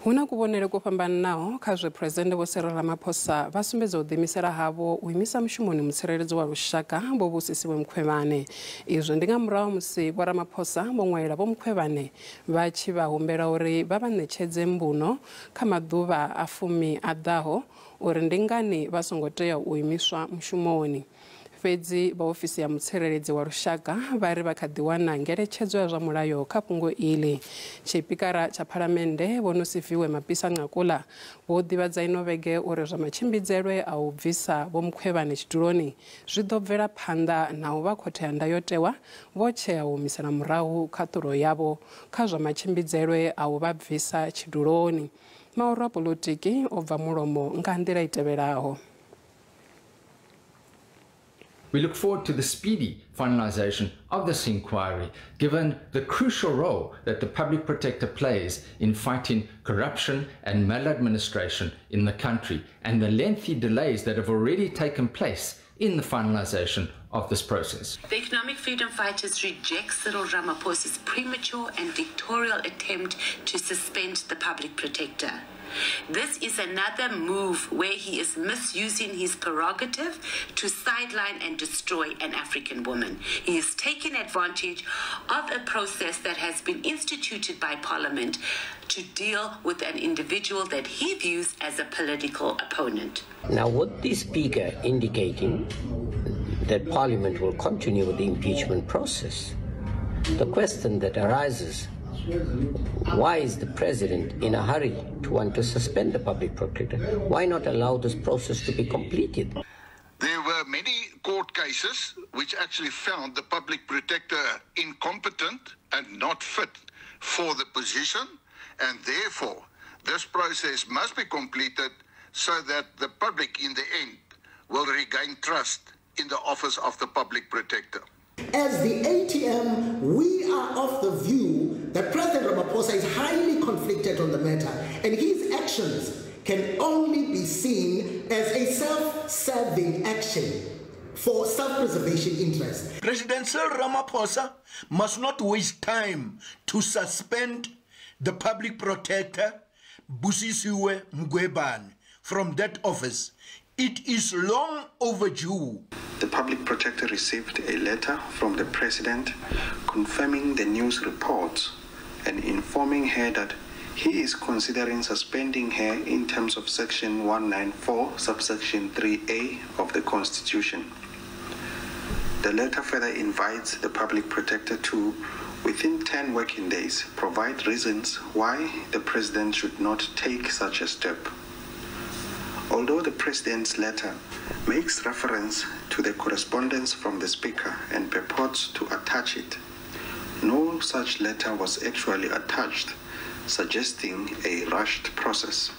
Hu na kuvhonele kwo fhambanaho kha zwe President Vho Cyril Ramaphosa vha sumbedza u ḓiimisela havho u imisa mushumoni mutsireledzi wa lushaka Vho Busisiwe Mkhwebane. Izwo ndi nga murahu musi Vho Ramaphosa vho ṅwalela Vho Mkhwebane vha tshi vha humbela uri vha vha ṋetshedze mbuno kha maḓuvha a 10 a ḓaho uri ndi ngani vha songo tea u imiswa mushumoni. Fhedzi vha ofisi ya mutsireledzi wa lushaka vha ri vha kha ḓi wana ngeletshedzo ya zwa mulayo kha fhungo iḽi. Tshipikara tsha Phalamennde Vho Nosiviwe Mapisa Nqakula vho ḓivhadza ino vhege uri zwa matshimbidzelwe a u bvisa Vho Mkhwebane tshiduloni zwi ḓo bvela phanḓa na u vha khothe ya ndayotewa vho tshea u humisela murahu khaṱulo yavho kha zwa matshimbidzelwe a u vha bvisa tshiduloni. Maoro a polotiki o bva mulomo nga nḓila i tevhelaho. We look forward to the speedy finalization of this inquiry, given the crucial role that the public protector plays in fighting corruption and maladministration in the country and the lengthy delays that have already taken place in the finalization of this process. The Economic Freedom Fighters reject Cyril Ramaphosa's premature and dictatorial attempt to suspend the public protector. This is another move where he is misusing his prerogative to sideline and destroy an African woman. He is taking advantage of a process that has been instituted by Parliament to deal with an individual that he views as a political opponent. Now, what the Speaker indicating that Parliament will continue with the impeachment process, the question that arises, why is the president in a hurry to want to suspend the public protector? Why not allow this process to be completed? There were many court cases which actually found the public protector incompetent and not fit for the position, and therefore this process must be completed so that the public in the end will regain trust in the office of the public protector. As the ATM, we are of the view that President Ramaphosa is highly conflicted on the matter, and his actions can only be seen as a self-serving action for self-preservation interest. President Cyril Ramaphosa must not waste time to suspend the public protector, Busisiwe Mkhwebane, from that office. It is long overdue. The public protector received a letter from the president confirming the news reports and informing her that he is considering suspending her in terms of section 194, subsection 3A of the Constitution. The letter further invites the public protector to, within 10 working days, provide reasons why the president should not take such a step. Although the president's letter makes reference to the correspondence from the speaker and purports to attach it, no such letter was actually attached, suggesting a rushed process.